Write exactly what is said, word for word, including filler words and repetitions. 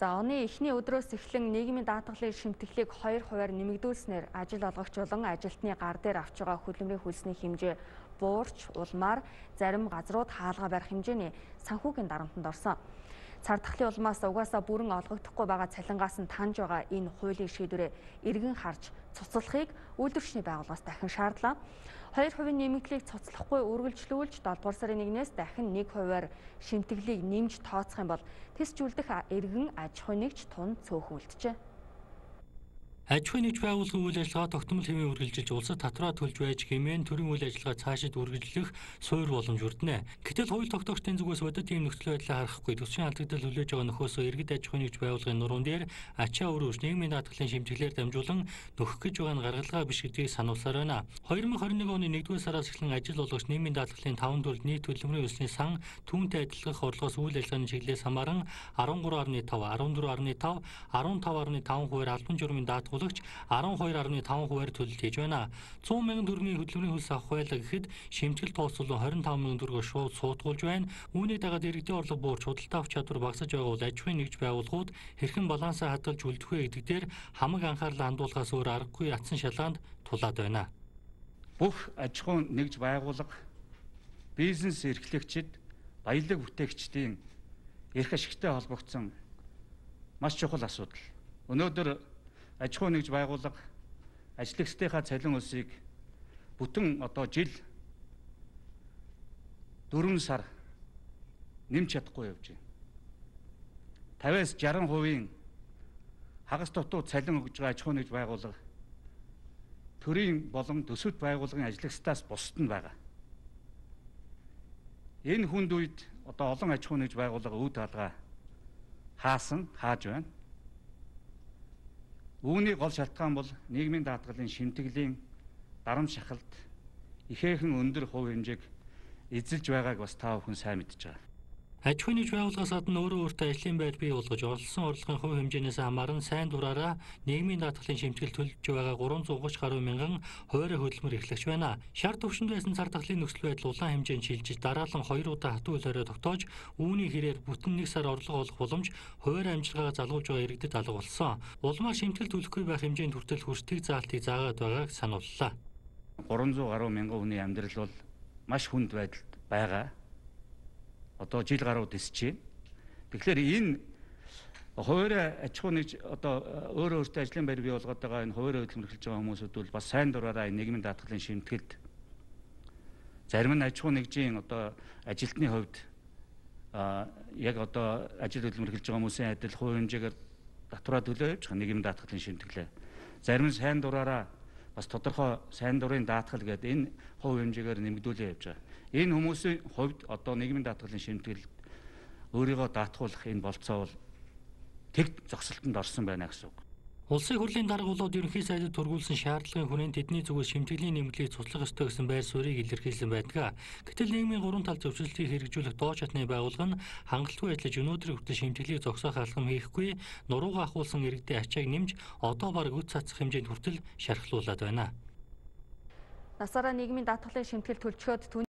За оны эхний өдрөөс эхлэн нийгмийн даатгалын шимтгэлийг хоёр хувиар нэмэгдүүлснээр ажил олгогч болон ажилтны гар дээр авч байгаа хөдөлмөрийн хөлсний хэмжээ буурч, улмаар зарим газрууд хаалга барих хэмжээний санхүүгийн дарамтанд орсон. Цардахлын улмаас угаасаа бүрэн олгогдохгүй байгаа цалингаас нь таньж байгаа энэ хуулийн шийдвэрээ эргэн харж цуцлахыг үйлдвэрчний байгууллагаас дахин шаардлаа. Хоёр хувийн нэмэгдлийг цуцлахгүй үргэлжлүүлж долдугаар сарын нэгнээс дахин нэг хувиар шимтгэлийг нэмж тооцох юм бол тэсжүүлдэх эргэн аж ахуй нэгж тун цөөхөн үлджээ. Аж ахуй нэгж байгууллагын үйл ажиллагаа тогтмол хэвээр үргэлжилж улсад татраа төлж байж хэмээн төрийн үйл ажиллагаа цаашид үргэлжлэх суур боломж өрдөнэ. Гэтэл хууль тогтоогчдын зүгээс бодит ийм нөхцөл байдлаа харахгүй төсвийн алдагдал хүлээж байгаа нөхөөсөө иргэд аж ахуй нэгж байгууллагын нуруунд дээр ачаа өрөөж нийгмийн даатгалын шимтгэлээр дамжуулан нөхөх гэж байгаа нь гаргалгаа биш гэдгийг сануулсаар байна. хоёр мың хорин нэг оны нэгдүгээр сараас эхлэн ажил олгогч нийгмийн даатгалын таван төрөл нийт хөдөлмөрийн хөлсний сан түүнтэй адилдах орлогоос үйл ажиллагааны чиглэлээс хамааран арван гурван арван таван, арван дөрвөн арван таван, арван таван арван таван хувиар албан журмын даатгуулагч арван хоёр арван таван хувиар төлөлт хийж байна. цуун мянган төгрөгийн хөдөлмөрийн хөлс авах байлаа гэхэд шимтгэл тооцоолон хорин таван мянган төгрөгөөр шууд суудгуулж байна. Үүнийг дагаад иргэдийн орлого буурч худалдаа авах чадвар багасж байгаа бол аж ахуйн нэгж байгууллагууд хэрхэн балансаа хадгалж үлдэх вэ гэдэг дээр хамаг анхаарлаа хандуулахаас өөр аргагүй атсан шалгаанд тулаад байна. Бүх аж ахуйн нэгж байгууллага, бизнес эрхлэгчид, баялаг бүтээгчдийн эрх ашигтай холбогдсон маш чухал асуудал. Өнөөдөр аж ахуй нэгж байгууллага ажлагчдынхаа цалин өсийг бүтэн одоо жил дөрвөн сар нэмж чадахгүй явж байна. тавиас жаран хувийн хагас дутуу цалин өгж байгаа аж ахуй нэгж байгууллага төрийн болон төсөвт байгууллагын ажлагчдаас бусад нь байгаа. Энэ хүнд үед одоо олон аж ахуй нэгж байгууллага үе даалгаа хаасан, хааж байна. Үүний гол шалтгаан бол нийгмийн даатгалын шимтгэлийн дарамт шахалт ихээхэн өндөр хувь хэмжээг эзэлж байгааг бас та бүхэн сайн мэдж байгаа. Аж ахуй нэгж байгууллагаас гадна өөрөө өөртөө ажлын байдал бий болгож олсон орлогын хувь хэмжээнээс хамааран сайн дураараа нийгмийн даатгалын шимтгэл төлж байгаа гурван зуун гурван гаруй мянган хувиар хөдөлмөр эрхлэгч байна. Шар төвшөнд байсан цардахлын нөхцөл байдал улаан хэмжээнд шилжиж дараалан хоёр удаа хатуу хөлөөрөө тогтоож үүний хэрээр бүтэн нэг сар орлого олох боломж хувиар амжилгаагаа залгуулж байгаа иргэдэд алга болсон. Улмаар шимтгэл төлөхгүй байх хэмжээнд хүртэл хүртэх заалтыг заагаад байгааг санууллаа. гурван зуун гаруй мянган хүний амьдрал бол маш хүнд байдалд байгаа. Одоо жил гаруй дэсэж байна. Тэгэхээр энэ хувиар аж ахуй нэгж одоо өөрөө өөртөө ажлын байр бий болгоод байгаа энэ хувиар хөдөлмөр эрхэлж байгаа хүмүүсүүд бол бас сайн дураараа энэ нийгмийн даатгалын шимтгэлд зарим нь аж ахуй нэгжийн одоо ажилтны хувьд а яг одоо ажил хөдөлмөр эрхэлж байгаа хүмүүсийн адил хувь хэмжээгээр татвараа төлөө явж байгаа нийгмийн даатгалын шимтгэлээ. Зарим нь сайн дураараа бас тодорхой сайн дурын даатгал гэдэг энэ хувь хэмжээгээр нэмэгдүүлээ явж байгаа. Энэ хүмүүсийн хувьд одоо нийгмийн даатгалын шимтгэл өөрийгөө даатгуулах энэ болцоо бол тэг зогсолтонд орсон байна гэсэн үг. Улсын хурлын дарга болоод ерөнхий сайдад тургуулсан шаардлагын хүрээнд тэдний зүгээс шимтгэлийн нэмэлтийг цуцлах ёстой гэсэн байр суурийг илэрхийлсэн байдаг. Гэтэл нийгмийн гурван тал зөвшөөрлийг хэрэгжүүлэх дооч хатны байгууллага нь хангалтгүй ажиллаж өнөөдөр хүртэл шимтгэлийг зогсоох алхам хийхгүй, нуруугаа ахуулсан иргэдийн ачааг нэмж одоо бараг үт цацах хэмжээнд хүртэл шархлуулад байна. Насаараа нийгмийн даатгалын шимтгэл төлчгөөд